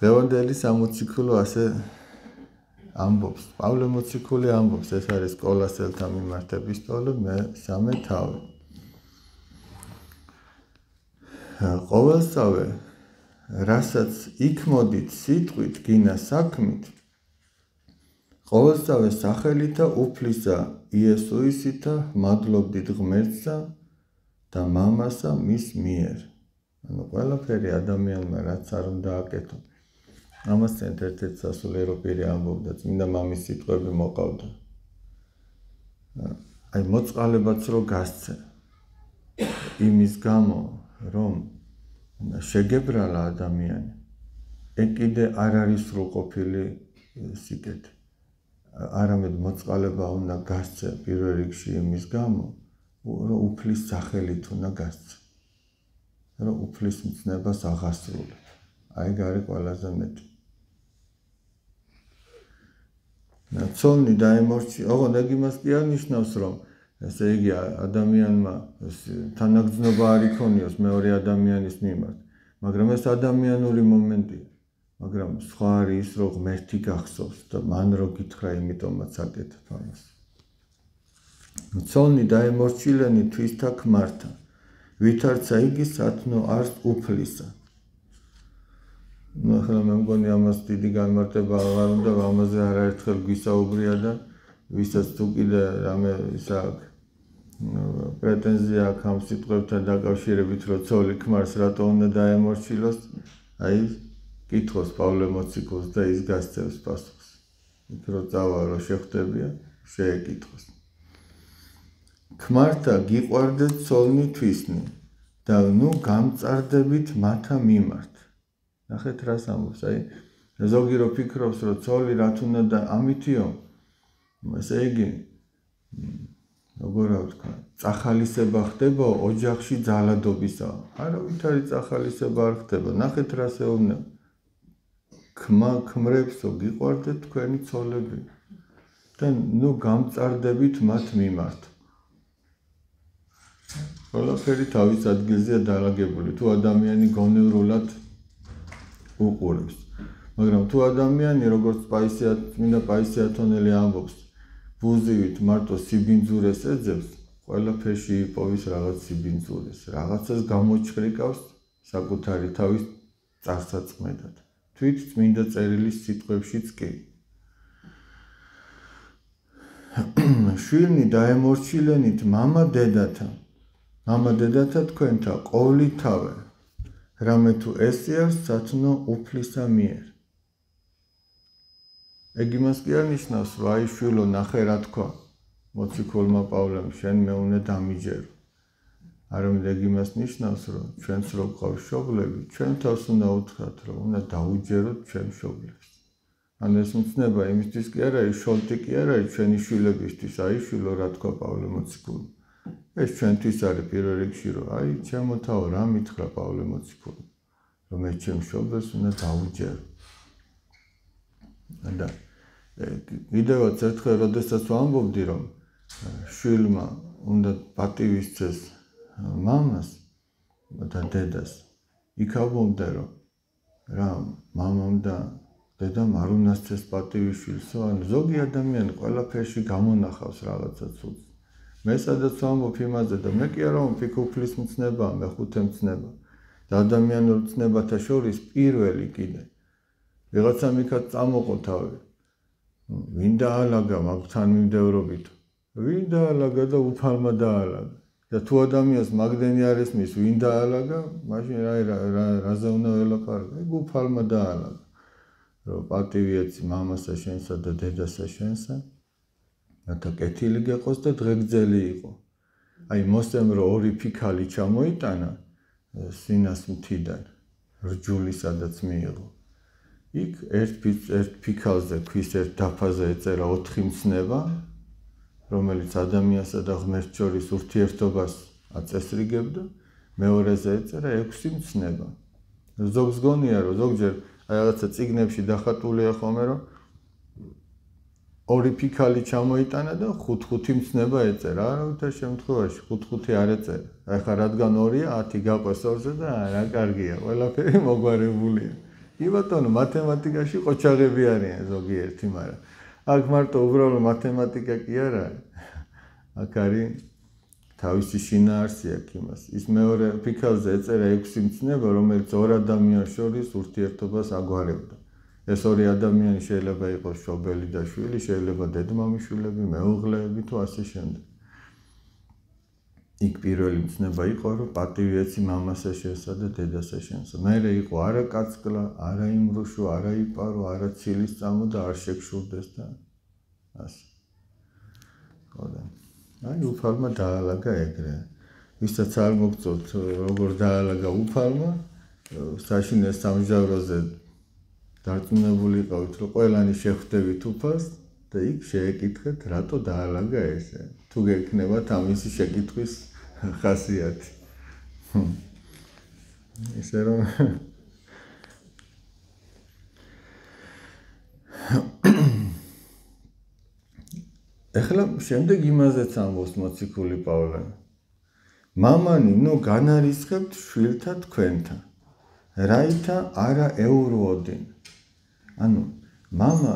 დღევანდელი სამოციქულო ასე ამბობს. პავლე მოციქული ამბობს, ეს არის კოლასელთა მიმართ ეპისტოლე მე-3 თავი. ყოველსავე, რასაც იქ მოდით სიტყვით, გინა საქმით, ყოველსავე სახელითა უფლისა იესოისითა მადლობდით ღმერთსა და მამასა მის მიერ. ანუ ყველაფერი ადამიანმა რაც არ უნდა აკეთო. ამასთან ერთ-ერთ სასულიერო პირი ამბობდა, წმინდა მამის სიტყვები მოყავდა. აი მოწყალებაც რო გასცე. იმის გამო, რომ შეგებრალა ადამიანი, ეგ კიდე არ არის სრულყოფილი სიკეთე. არამედ მოწყალება უნდა გასცე პირველ რიგში იმის გამო, რომ უფლის სახელით უნდა გასცე. რომ უფლის მცნებას აღასრულებ. აი ეგ არის ყველაზე მეტი. ცოლნი დაემორჩი, ოღონდ ეგ იმას კი არ ნიშნავს, რომ ესე იგი ადამიანმა თანაგრძნობა არ იქონიოს მეორე ადამიანის მიმართ, მაგრამ ეს ადამიანური მომენტია. მაგრამ სხვა არის ის, რომ ღმერთი გახსოვს და მან რო გითხრა, იმიტომაც აკეთებ ამას. ცოლნი დაემორჩილენი თვისთა ქმართა, ვითარცა იგი სათნო არს უფლისა. ახლა მე მგონი ამას დიდი განმარტება აღარ უნდა, ამაზე არაერთხელ გვისაუბრია და ვისაც თუ კიდე რამე ისა აქვს პრეტენზია აქვს ამ სიტყვებთან დაკავშირებით, რომ ცოლი ქმარს რატო უნდა დაემორჩილოს, აი კითხოს პავლე მოციქულს და ის გასცემს პასუხს. იქ რო წავა, რო შეხვდებია, შეეკითხოს. ქმართა გიყვარდეთ ცოლნი თვისნი და ნუ გამწარდებით მათა მიმართ. ნახეთ რას ამბობს, აი ზოგი რო ფიქრობს, რომ ცოლი რა თუნდა და ამითიო, ესე იგი როგორ ვთქვა, წახალისება ხდება ოჯახში ძალადობისა. არავითარი წახალისება არ ხდება. ნახეთ რას ეუბნება. ქმრებსო გიყვარდეთ თქვენი ცოლები და ნუ გამწარდებით მათ მიმართ. ყველაფერი თავის ადგილზეა დალაგებული. თუ ადამიანი გონევრულად უყურებს. მაგრამ თუ ადამიანი, როგორც წმინდა პაისიათონელი ამბობს, ბუზივით მარტო სიბინძურეს ეძებს, ყველაფერში იპოვის რაღაც სიბინძურეს, რაღაცას გამოჩხრიკავს საკუთარი თავის წარსაწყმედად. თვით წმინდა წერილის სიტყვებშიც კი. შვილნი დაემორჩილენით მამა დედათა თქვენთა ყოვლითავე, რამე თუ ესიარს სათნო უფლისა მიერ. ეგ იმას კი არ ნიშნავს, რომ აი შვილო ნახე რა თქვა მოციქულმა პავლემ, შენ მე უნდა დამიჯერო. არამედ ეგ იმას ნიშნავს, რომ ჩვენც რო გვყავს მშობლები, ჩვენ თავს უნდა უთხრათ, რომ უნდა დაუჯეროთ ჩვენ მშობლებს. ანუ ეს მცნება იმისთვის კი არ არის, შოლტი კი არ არის ჩვენი შვილებისთვის, აი შვილო რა თქვა პავლე მოციქული. ეს ჩვენთვის არის პირველ რიგში, რომ აი ჩემო თავო რა მითხრა პავლე მოციქული, რომ მე ჩემ მშობლებს უნდა დაუჯერო. და კიდევაც ერთხელ, როდესაც ვამბობდი, რომ შვილმა უნდა პატივისცეს მამას და დედას, იქ ამბობდა, რომ რა მამამ და დედამ არ უნდა სცეს პატივი შვილსო, ანუ ზოგი ადამიანი ყველაფერში გამონახავს რაღაცა ცუდს. მე სადაც ვამბობ იმაზე და მე კი არა ვამბობ, იქ უფლის მცნება, მეხუთე მცნება და ადამიანურ მცნებათა შორის პირველი კიდე. ვიღაცამ იქაც წამოყო თავი. ვინ დაალაგა მაგ თანმიმდევრობით? ვინ დაალაგა და უფალმა დაალაგა. და თუ ადამიანს მაგდენი არ ესმის, ვინ დაალაგა, მაშინ რაზე უნდა ველაპარაკო? ეგ უფალმა დაალაგა. რომ პატივი ეცი მამასა შენსა და დედასა შენსა, რათა კეთილი გეყოს და დღეგრძელი იყო. აი მოსემ რომ ორი ფიქალი ჩამოიტანა სინას მთიდან, რჯული სადაც მიიღო. იქ ერთ ფიქალზე, ქვის ერთ დაფაზე ეწერა 4 მცნება, რომელიც ადამიანსა და ღმერთს შორის ურთიერთობას აწესრიგებდა, მეორეზე ეწერა 6 მცნება. ზოგს გონია, რომ ზოგჯერ აი რაღაცა წიგნებში დახატულია ხოლმე, რომ ორი ფიქალი ჩამოიტანა და 5 მცნება ეწერა. არავითარ შემთხვევაში 5 არ ეწერა. აი ხა რადგან 2-ია, 10 გაყვეს 2-ზე და რა კარგია, ყველაფერი მოგვარებულია. კი ბატონო, მათემატიკაში ყოჩაღები არიან ზოგიერთი, მაგრამ აქ მარტო უბრალოდ მათემატიკა კი არა. აქ არის თავისი შინაარსი აქვს იმას. ის მეორე ფიქალზე ეწერა 6 მცნება, რომელიც ორ ადამიანს შორის ურთიერთობას აგვარებდა. ეს ორი ადამიანი შეიძლება იყოს მშობელი და შვილი, შეიძლება დედმამიშვილები, მეუღლეები თუ ასე შემდეგ. იქ პირველი მცნება იყო, რომ პატივი ეცი მამასა შენსა და დედასა შენსა. მერე იყო არა კაცკლა, არა იმრუშო, არა იპარო, არა ცილის წამო და არ შეგშურდეს და ასე. ხოდა. აი უფალმა დაალაგა ეგრე. ვისაც არ მოგწონთ როგორ დაალაგა უფალმა, საშინეს სამჟავროზე დარწმუნებული იყავით, რომ ყველანი შეხვდებით უფალს და იქ შეეკითხეთ, რატო დაალაგა ესე. თუ გექნებათ ამისი შეკითხვის ხასიათი. ისე რომ ეხლა შემდეგ იმაზეც ამბობს მოციქული პავლე. მამანი, ნუ განარისხებთ შვილთა თქვენთან, რაითა არა ეურვოდინ. ანუ მამა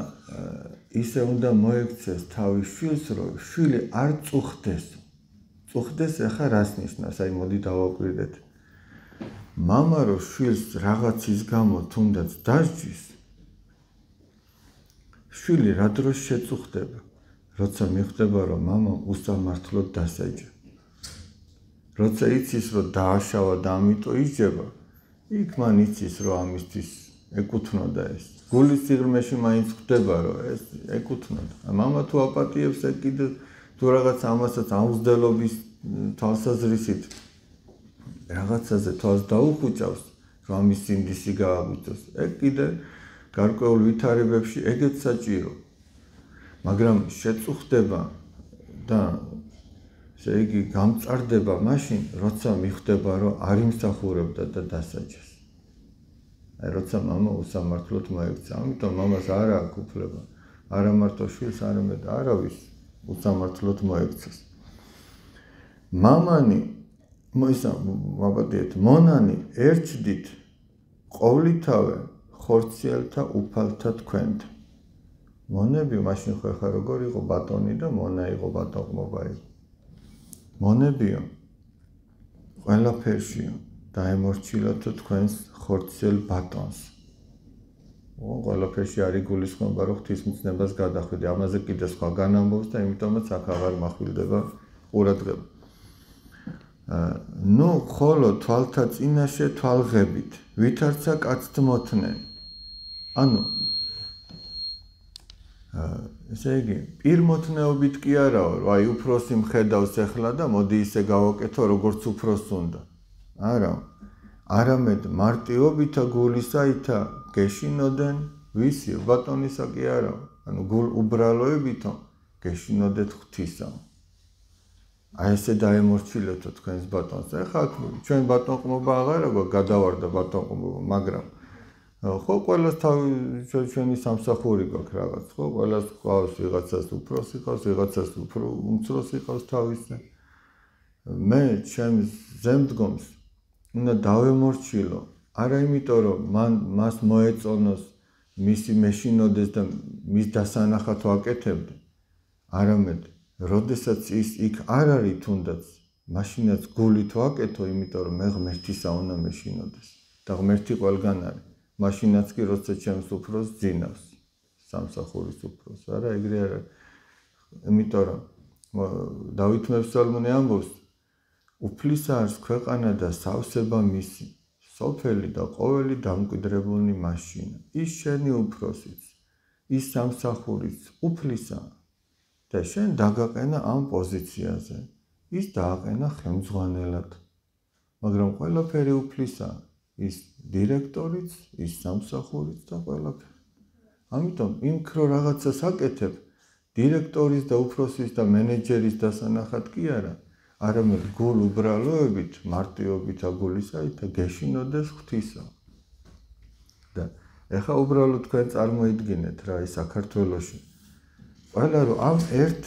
ისე უნდა მოექცეს თავის შვილს, რომ შვილი არ წუხდეს. წუხდეს ახლა რას ნიშნავს? აი მოდი დავაკვირდეთ. მამა რო შვილს რაღაცის გამო თუნდაც დასჯის, შვილი რა დროს შეწუხდება? როცა მიხვდება, რომ მამამ უსამართლოდ დასაჯა. როცა იცის, რომ დააშავა და ამიტომ ისჯება, იქ მან იცის, რომ ამისთვის ეკუთვნოდა ეს. გულის სიღრმეში მაინც ხვდება, რომ ეს ეკუთვნოდა. მამა თუ აპატიებს, ეგ კიდე თუ რაღაც ამასაც აუზრდელობის თვალსაზრისით რაღაცაზე თვალს დაუხუჭავს, რომ ამის სინდისი გააგვიწოს, ეგ კიდე გარკვეულ ვითარებებში ეგეც საჭირო. მაგრამ შეწუხდება და ესე იგი გამწარდება მაშინ, როცა მიხვდება, რომ არ იმსახურებდა და დასაჯეს. აი როცა მამა უსამართლოდ მოექცა, ამიტომ მამას არ აქვს უფლება, არა მარტო შვილს, არამედ არავის უსამართლოდ მოექცეს. მამანი, მოგადიეთ, მონანი ერჩდით ყოვლითავე ხორციელთა უფალთა თქვენთ. მონები მაშინ ხო ხა როგორ იყო ბატონი და მონა იყო ბატონყმობა იყო. მონებიო ყველაფერშიო დაემორჩილოთ თქვენს ხორციელ ბატონს. ყველაფერში არის გულისხმობა, რომ ღვთისმცნებას გადახვიდე. ამაზე კიდე სხვა განამბობს და იმიტომაც აქ აღარ მახვილდება ყურადღება. ნუ ხოლო თვალთა წინაშე თვალღებით, ვითარცა კაცთ მოთნენ. ანუ ესე იგი, პირმოთნეობით კი არაო, რომ აი უფროსი მხედავს ახლა და მოდი ისე გავაკეთო, როგორც უფროს უნდა. არა. არამედ მარტივობითა გულისაითა გეშინოდენ ვისიო, ბატონისა კი არაო. ანუ გულ უბრალოებითო გეშინოდეთ ღვთისა. აი ესე დაემორჩილეთო თქვენს ბატონს. ეხლა ჩვენ ბატონყმობა აღარა გვაქვს, გადავარდა ბატონყმობა, მაგრამ ხო ყველას ჩვენი სამსახური გვაქვს რაღაც, ხო ყველას ყავს ვიღაცას უფროსი ყავს, ვიღაცას უფრო უმცროსი ყავს თავისი. მე ჩემს ზემდგომს უნდა დავემორჩილო, არა იმიტომ რომ მას მოეწონოს, მისი მეშინოდეს და მის დასანახად ვაკეთებდე, არამედ როდესაც ის იქ არ არის თუნდაც, მაშინაც გულით ვაკეთო, იმიტომ რომ მე ღმერთისა უნდა მეშინოდეს და ღმერთი ყველგან არის. მაშინაც კი როცა ჩემს უფროს ძინავს, სამსახურის უფროს, არა ეგრე არა. იმიტომ რომ დავით მეფსალმუნე ამბობს, უფლისა არის ქვეყანა და სავსება მისი, სოფელი და ყოველი დამკვიდრებულნი მაშინა. ის შენი უფროსიც, ის სამსახურიც უფლისა და შენ დაგაყენა ამ პოზიციაზე, ის დააყენა ხელმძღვანელად. მაგრამ ყველაფერი უფლისაა. ის დირექტორიც, ის სამსახურიც და ყველაფერი. ამიტომ იმ ქრო რაღაცას აკეთებ, დირექტორის და უფროსის და მენეჯერის დასანახად კი არა, არამედ გულ უბრალოებით, მარტივობით აგულისაით და გეშინოდეს ღვთისა. და ეხა უბრალოდ თქვენ წარმოიდგინეთ რა ის საქართველოში. ყველა რომ ამ ერთ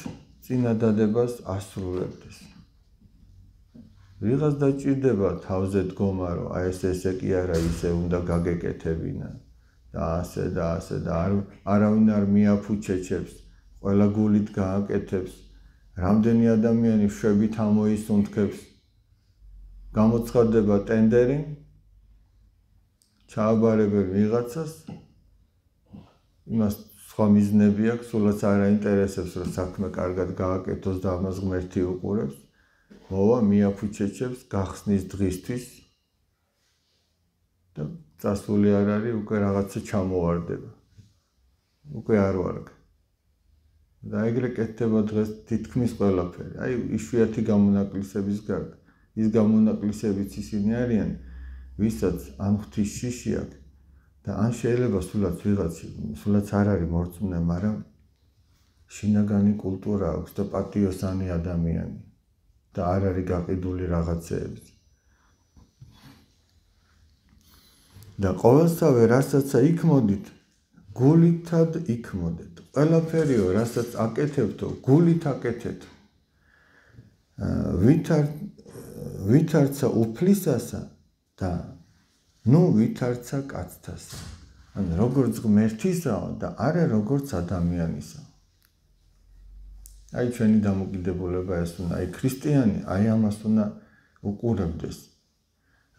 წინადადებას ასრულებდეს. ვიღაც დაჭირდება თავზე დგომა, რომ აი ესე კი არა ისე უნდა გაგეკეთებინა. და ასე და არავინ არ მიაფუჩეჩებს, ყველა გულით გააკეთებს, რამდენი ადამიანი შვებით ამოისუნთქებს, გამოცხადდება ტენდერი, ჩააბარებენ ვიღაცას, იმას სხვა მიზნები აქვს, სულაც არ აინტერესებს, რომ საქმე კარგად გააკეთოს და ამას ღმერთი უყურებს, მოვა მიაფუჩეჩებს გახსნის დღისთვის და წასული არ არის, უკვე რაღაცა ჩამოვარდება. უკვე არ ვარგ. და ეგრე კეთდება დღეს თითქმის ყველაფერი. აი, იშვიათი გამონაკლისების გარდა. ის გამონაკლისებიც ისინი არიან, ვისაც ან ღვთის შიში აქვს და ან შეიძლება სულაც არ არის მორწმუნე, მაგრამ შინაგანი კულტურა აქვს და პატიოსანი ადამიანი და არ არის გაყიდული რაღაცეებს. და ყოველსავე, რასაც იქ მოდით, გულითად იქ მოდეთ. ყველაფერიო, რასაც აკეთებთო, გულით აკეთეთ. ვითარცა უფლისასა და ვითარცა კაცთასა. ანუ როგორც ღმერთისაა და არა როგორც ადამიანისა. აი ჩვენი დამოკიდებულება ეს უნდა, აი ქრისტიანი, აი ამას უნდა უყურებდეს,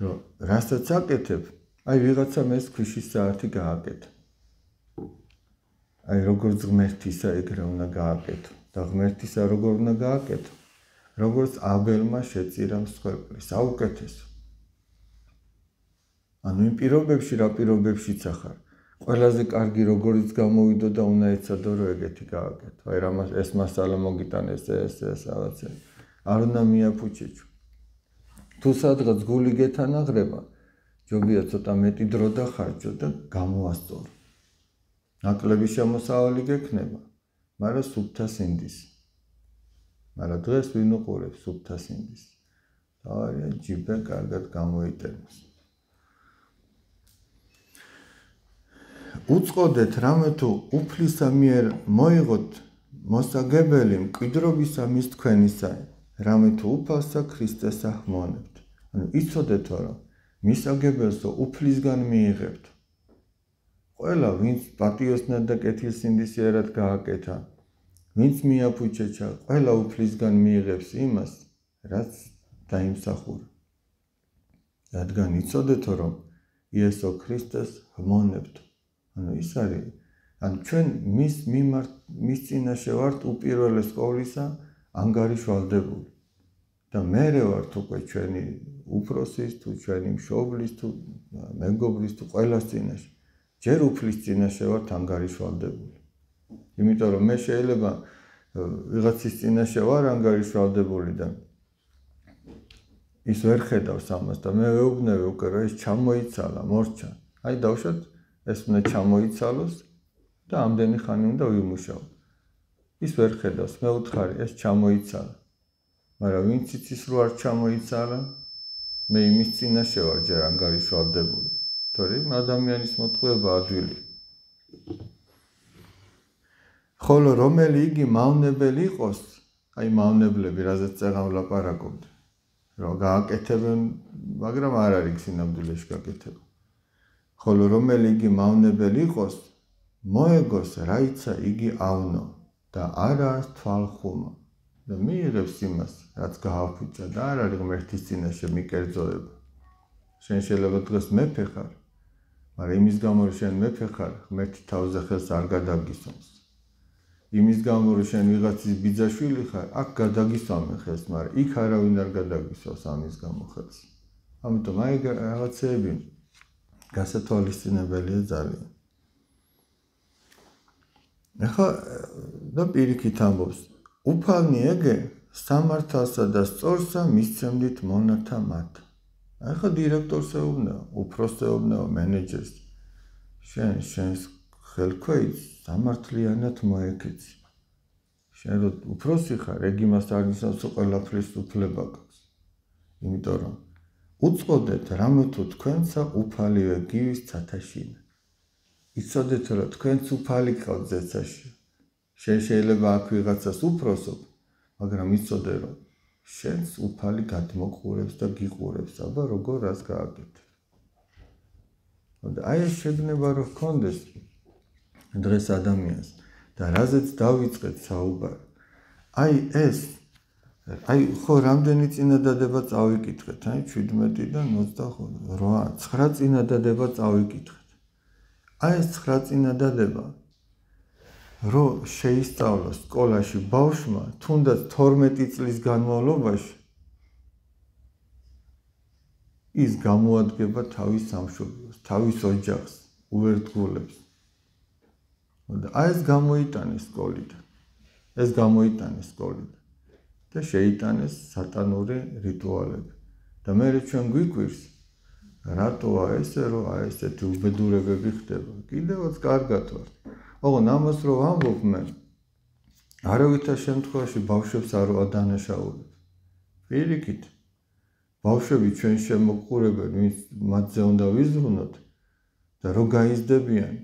რომ რასაც აკეთებ, აი ვიღაცამ ეს ქვიშის საათი გააკეთა. აი როგორც ღმერთისა ეგრე უნდა გააკეთო და ღმერთისა როგორ უნდა გააკეთო, როგორც აბელმა შეწირა მსხვერპლი, საუკეთესო. ანუ იმ პირობებში, რა პირობებშიც ახარ, ყველაზე კარგი როგორიც გამოვიდო და უნდა ეცადო, რომ ეგეთი გააკეთო. აი ეს მასალა მოგიტანეს ეს რაღაცა. არ უნდა მიაფუჩეჩო. თუ სადღაც გული გეთანაღრება, ჯობია ცოტა მეტი დრო დახარჯო და გამოასწორო. ნაკლები შემოსავალი გექნება, მაგრამ სუფთა სინდისი. მაგრამ დღეს ვინ უყურებს სუფთა სინდისი? თავარია ჯიბე კარგად გამოიტანოს. უწყოდეთ რამე თუ უფლისა მიერ მოიღოთ მოსაგებელი მკვიდრობისა მის თქვენისა, რამე თუ უფალსა ქრისტესა ჰმონებთ. ანუ იცოდეთო, რომ მისაგებელსო უფლისგან მიიღებთ. ყველა, ვინც პატიოსნად და კეთილსინდისიერად გააკეთა, ვინც მიაფუჩეჩა, ყველა უფლისგან მიიღებს იმას, რაც დაიმსახურა. რადგან იცოდეთო, რომ იესო ქრისტეს ჰმონებთ. ანუ ის არის, ან ჩვენ მის წინაშე ვართ უპირველეს ყოვლისა ანგარიშვალდებული. და მერე ვართ უკვე ჩვენი უფროსის, თუ ჩვენი მშობლის, თუ მეგობრის, თუ ყველას წინაშე. ჯერ უფლის წინაშე ვართ ანგარიშვალდებული. იმიტომ რომ მე შეიძლება ვიღაცის წინაშე ვარ ანგარიშვალდებული და ის ვერ ხედავს ამას და მე ვეუბნები უკვე, რომ ეს ჩამოიცალა, მორჩა. აი დავუშვათ, ეს უნდა ჩამოიცალოს და ამდენი ხანი უნდა ვიმუშაო. ის ვერ ხედავს, მე ვუთხარი, ეს ჩამოიცალა. მაგრამ ვინც იცის, რომ არ ჩამოიცალა, მე იმის წინაშე ვარ ჯერ ანგარიშვალდებული. თორემ ადამიანის მოტყუება ადვილი. ხოლო რომელი იგი მავნებელი იყოს, აი მავნებლები, რაზეც წეღან ვლაპარაკობთ, რომ გააკეთებენ, მაგრამ არ არის სინამდვილეში გაკეთება. ხოლო რომელი იგი მავნებელი იყოს, მოეგოს რაიცა იგი ავნო და არა თვალხუმა და მიიღებს იმას, რაც გააფუჭა და არ არის ღმერთის წინაშე მიკერძოება. შენ შეიძლება დღეს მეფე ხარ, მაგრამ იმის გამო, რომ შენ მეფე ხარ, ღმერთი თავზე ხელს არ გადაგისვამს. იმის გამო, რომ შენ ვიღაცის ბიძაშვილი ხარ, აქ გადაგისვამენ ხელს, მაგრამ იქ არავინ არ გადაგისვამს ამის გამო ხელს. ამიტომ აი რაღაცეები გასათვალისწინებელია ძალიან. ახლა და პირიქით ამბობს, უფალნი ეგე სამართალსა და სწორსა მისცემდით მონათა მათ. ახლა დირექტორს ეუბნება, უფროსს ეუბნება, მენეჯერს. შენს ხელქვეითს სამართლიანად მოეკეცი. შენ რო უფროსი ხარ, ეგ იმას არ ნიშნავს, რომ ყველაფრის უფლება გაქვს. იმიტომ რომ უწყოდეთ რამე თუ თქვენსა უფალივე გივის ცათაშინა. იცოდეთ, რომ თქვენც უფალი გყავთ ზეცაში. შენ შეიძლება აქ ვიღაცას უფროსობ, მაგრამ იცოდე, რომ შენს უფალი გადმოყურებს და გიყურებს, აბა როგორ რას გააკეთებ. აი ეს შეგნება რო ჰქონდეს დღეს ადამიანს და რაზეც დავიწყეთ საუბარი. აი ეს აი ხო რამდენი წინადადება წავიკითხეთ, აი 17-დან 25, 9 წინადადება წავიკითხეთ. აი ეს 9 წინადადება რო შეისწავლოს სკოლაში ბავშვმა, თუნდაც 12 წლის განმავლობაში ის გამოადგება თავის სამშობლოს, თავის ოჯახს, უერთგულებს. აი ეს გამოიტანეს სკოლიდან. ეს გამოიტანეს სკოლიდან. და შეიტანეს სატანური რიტუალები. და მე ჩვენ გვიკვირს, რატოა ესე, რომ აი ესეთი უბედურებები ხდება. კიდევაც კარგად ვარ. ოღონ ამას რო ვამბობ მე, არავითარ შემთხვევაში ბავშვებს არ ვადანაშაულებ. პირიქით, ბავშვები ჩვენ შემოყურებენ, ვინც მათზე უნდა ვიზრუნოთ და რო გაიზრდებიან,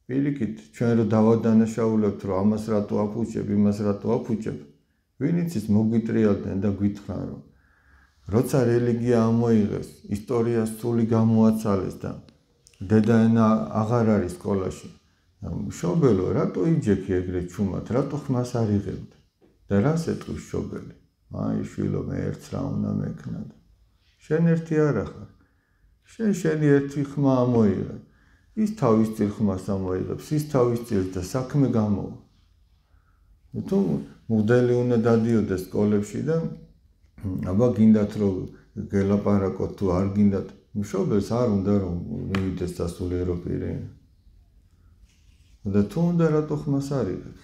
პირიქით, ჩვენ რო დავადანაშაულებთ, რომ ამას რატო აფუჭებ, იმას რატო აფუჭებ, ვინც ის მოგვიტრიალდნენ და გითხრან, რომ როცა რელიგია ამოიღეს, ისტორია სული გამოაცალეს და დედაენა აღარ არის სკოლაში. მშობელო, რატო იჯექი ეგრე ჩუმად, რატო ხმას არ იღებდი? და რას ეტყვის მშობელი? აი შვილო, მე ერთს რა უნდა მექნა და შენ ერთი არა ხარ. შენი ერთი ხმა ამოიღე. ის თავის წილ ხმას ამოიღებს, ის თავის წილს და საქმე გამოვა. თუ მოდელი უნდა დადიოდეს სკოლებში და აბა გინდათ რომ გელაპარაკოთ თუ არ გინდათ, მშობელს არ უნდა რომ მივიდეს სასულიერო პირი. და თუ უნდა რატო ხმას არ იღებს?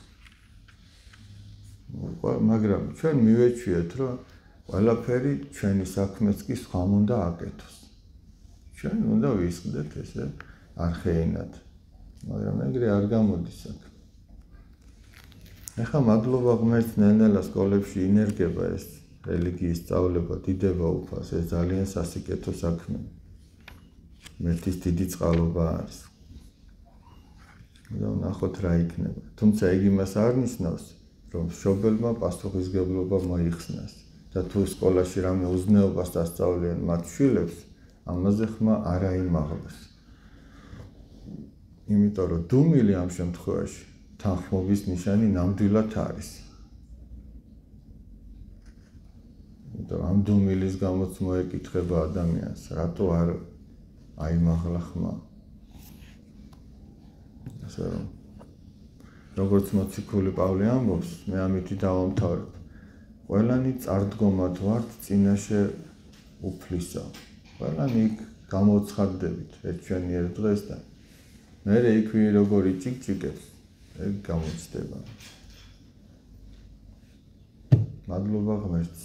მაგრამ ჩვენ მივეჩვიეთ რომ ყველაფერი ჩვენი საქმეც კი სხვამ უნდა აკეთოს. ჩვენ უნდა ვისყდეთ ესე არხეინად. მაგრამ ეგრე არ გამოდის საქმე. ეხლა მადლობა ღმერთს ნელ-ნელა სკოლებში ინერგება ეს რელიგიის სწავლება, დიდება უფალს, ეს ძალიან სასიკეთო საქმე. მერტის დიდი წყალობა არის. და ნახოთ რა იქნება. თუმცა ეგ იმას არ ნიშნავს, რომ მშობელმა პასუხისმგებლობა მოიხსნას და თუ სკოლაში რამე უზნეობას ასწავლიან მათ შვილებს, ამაზე ხმა არ აიმაღლოს. იმიტომ რომ დუმილი ამ შემთხვევაში თანხმობის ნიშანი ნამდვილად არის. ამ დუმილის გამოც მოეკითხება ადამიანს, რატო არ აიმაღლა ხმა. ასე რომ როგორც მოციქული პავლე ამბობს, მე ამითი დავამთავრებ. ყველანი წარდგომად ვართ წინაშე უფლისა. ყველანი იქ გამოცხადდებით ერთჩვენიერ დღეს და მერე იქვე როგორი ჭიკჭიკებს, ეგ გამოჩნდება. მადლობა ღმერთს.